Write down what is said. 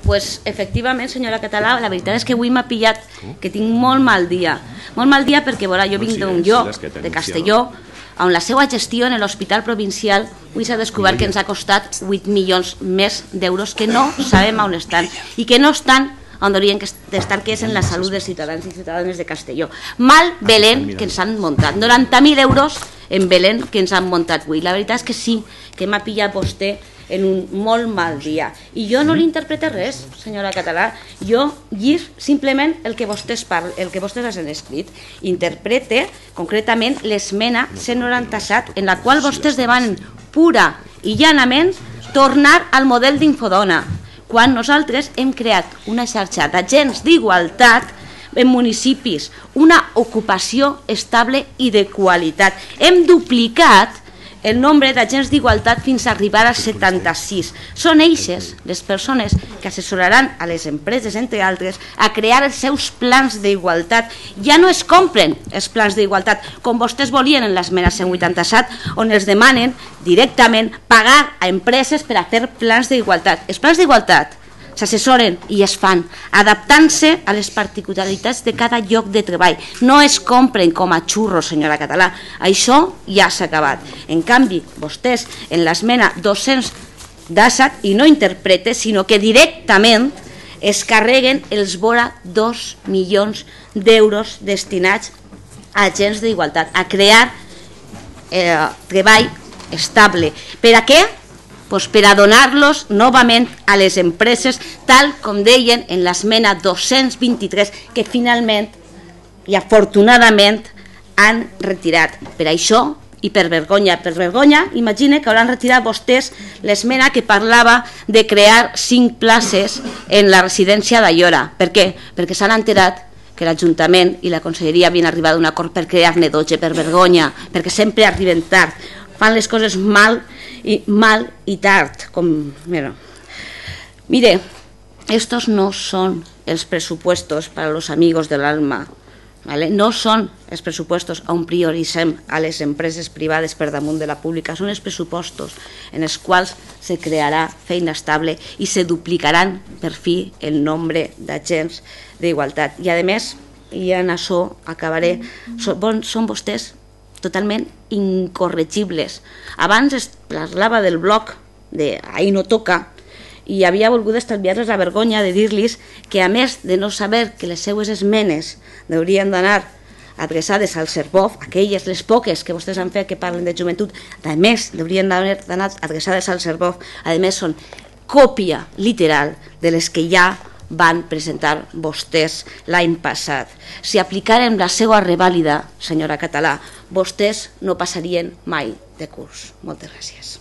Doncs, efectivament, senyora Català, la veritat és que avui m'ha pillat que tinc molt mal dia. Molt mal dia perquè, veurà, jo vinc d'un lloc, de Castelló, on la seva gestió en l'hospital provincial avui s'ha descobert que ens ha costat 8 milions més d'euros que no sabem on estan i que no estan on haurien d'estar, que és en la salut dels ciutadans i ciutadanes de Castelló. Mal Belén que ens han muntat, 90.000 euros en Belén que ens han muntat avui. La veritat és que sí, que m'ha pillat vostè en un molt mal dia. I jo no li interprete res, senyora Català. Jo llis simplement el que vostès han escrit. Interprete concretament l'esmena 197 en la qual vostès demanen pura i llanament tornar al model d'Infodona, quan nosaltres hem creat una xarxa d'agents d'igualtat en municipis, una ocupació estable i de qualitat. Hem duplicat el nombre d'agents d'igualtat fins a arribar a 76. Són eixes les persones que assessoraran a les empreses, entre altres, a crear els seus plans d'igualtat. Ja no es compren els plans d'igualtat, com vostès volien en l'esmena 187, on els demanen directament pagar a empreses per a fer plans d'igualtat. Els plans d'igualtat s'assessoren i es fan, adaptant-se a les particularitats de cada lloc de treball. No es compren com a xurros, senyora Català. Això ja s'ha acabat. En canvi, vostès, en l'esmena 217, i no interprete, sinó que directament es carreguen els vora 2 milions d'euros destinats a agents d'igualtat, a crear treball estable. Per a què? Per a donar-los novament a les empreses, tal com deien en l'esmena 223, que finalment i afortunadament han retirat. Per això i per vergonya, imagine que hauran retirat vostès l'esmena que parlava de crear 5 places en la residència d'Aiora. Per què? Perquè s'han enterat que l'Ajuntament i la Conselleria havien arribat a un acord per crear-ne 12, per vergonya, perquè sempre arriben tard, fan les coses mal i tard. Mire, estos no son els presupuestos para los amigos del alma, ¿vale? No són els pressupostos on prioritzem a les empreses privades per damunt de la pública, són els pressupostos en els quals se crearà feina estable i se duplicaran per fi el nombre d'agents d'igualtat. I a més, i en això acabaré, són vostès totalment incorregibles. Abans es parlava del bloc de Ahí no toca i havia volgut estalviar-les la vergonya de dir-los que, a més de no saber que les seues esmenes haurien d'anar adreçades al CERVOF, aquelles, les poques que vostès han fet que parlen de joventut, a més haurien d'anar adreçades al CERVOF, a més són còpia literal de les que ja van presentar vostès l'any passat. Si aplicaren la seva revàlida, senyora Català, vostès no passarien mai de curs. Moltes gràcies.